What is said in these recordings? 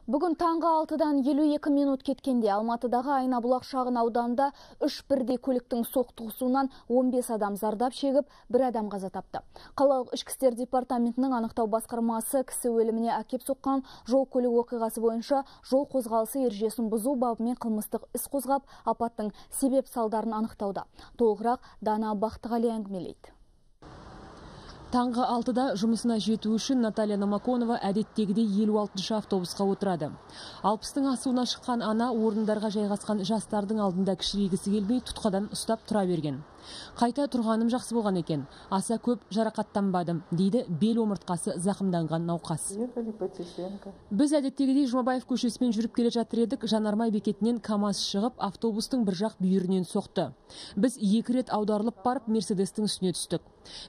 Бүгін таңғы 6-дан 52 минут кеткенде Алматыдағы Айнабұлақ шағын ауданында 3 бірдей көліктің соқтығысуынан 15 адам зардап шегіп, 1 адам қаза тапты. Қалалық ішкі істер департаментінің анықтау басқармасы кісі өліміне әкеп соққан жол көлік оқиғасы бойынша жол қозғалысы ережесін бұзу бабымен қылмыстық іс қозғап, апаттың себеп салдарын анықтауда. Толығырақ Дана Бақтығали әңгімелейді. Таңғы 6-да жұмысына жету үшін Наталья Намаконова әдеттегідей 56-шы автобусқа отырады. 60-тың асуына шыққан ана орындарға жайғасқан жастардың алдында кішірейгісі келмей тұтқадан ұстап тұра берген. Қайта тұрғаным жақсы болған екен. Аса көп жарақаттанбадым, дейді бел омыртқасы зақымданған науқас. Біз әдеттегідей Жұмабаев көшесімен жүріп келе жатыр едік, Жанармай бекетінен КАМАЗ шығып, автобустың бір жақ бүйірінен соқты. Біз 2 рет аударылып барып, Мерседестің үстіне түстік.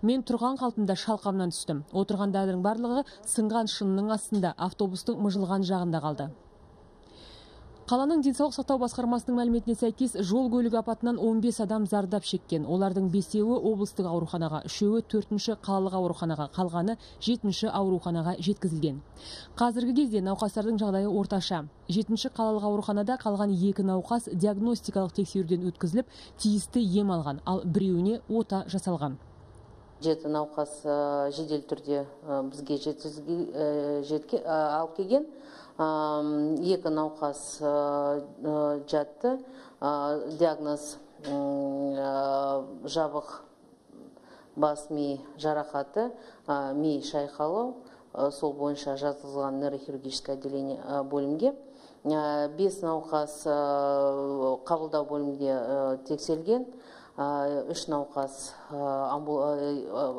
Мен тұрған қалпымда шалқамнан түстім. Отырғандардың барлығы сынған шынының астында, автобустың мыжылған жағында қалды. Қаланың денсаулық сақтау басқармасының мәліметіне сәйкес, жол көлік апатынан 15 адам зардап шеккен. Олардың 5-еуі облыстық ауруханаға, 3-еуі 4-ші қалалық ауруханаға, қалғаны 7-ші ауруханаға жеткізілген. Қазіргі кезде науқастардың жағдайы орташа. 7-ші қалалық ауруханада қалған 2 науқас диагностикалық тексеруден өткізіліп, тиісті ем алған, ал біреуіне ота жасалған. 7 науқас жедел түрде бізге алып келген. 2 науқас жатты. Диагноз жабық бас ми жарақаты, ми шайқалау. Сол бойынша жатқызылған нейрохирургическое отделение бөлімге. 5 науқас қабылдау бөлімге тексерілген. 3 науқас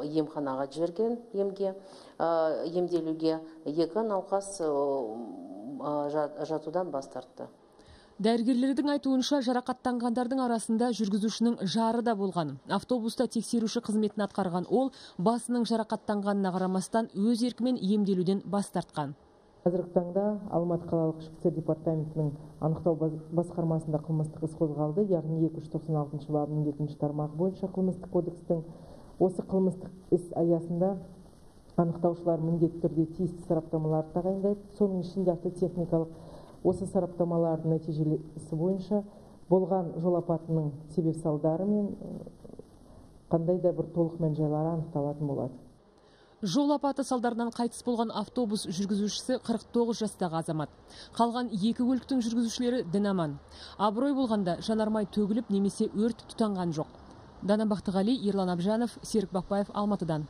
емханаға жіберген емделуге, 2 науқас жатудан бас тартты. Дәрігерлердің айтуынша жарақаттанғандардың арасында жүргізушінің жары да болған. Автобуста тексеруші қызметін атқарған ол басының жарақаттанғанына қарамастан өз еркімен емделуден бас тартқан. Қазіргі таңда Алматы қалалық ішкі істер департаментінің анықтау басқармасында қылмыстық іс қозғалды, яғни 296 бабының 2-ші тармағы бойынша қылмыстық кодекстің. Осы қылмыстық іс аясында анықтаушылар міндетті түрде тиісті сараптамаларды тағайындайды. Соның ішінде автотехникалық осы сараптамалардың нәтижесі бойынша болған жол апатының себеп салдары мен қандай да бір толық мән-жайлары анықталатын болады. Жол апаты салдарынан қайтыс болған автобус жүргізушісі 49 жастағы азамат. Қалған 2 көліктің жүргізушілері дін аман. Абырой болғанда жанармай төгіліп немесе өрт тұтанған жоқ. Дана Бақтығали, Ерлан Абжанов, Серік Бақбаев, Алматыдан.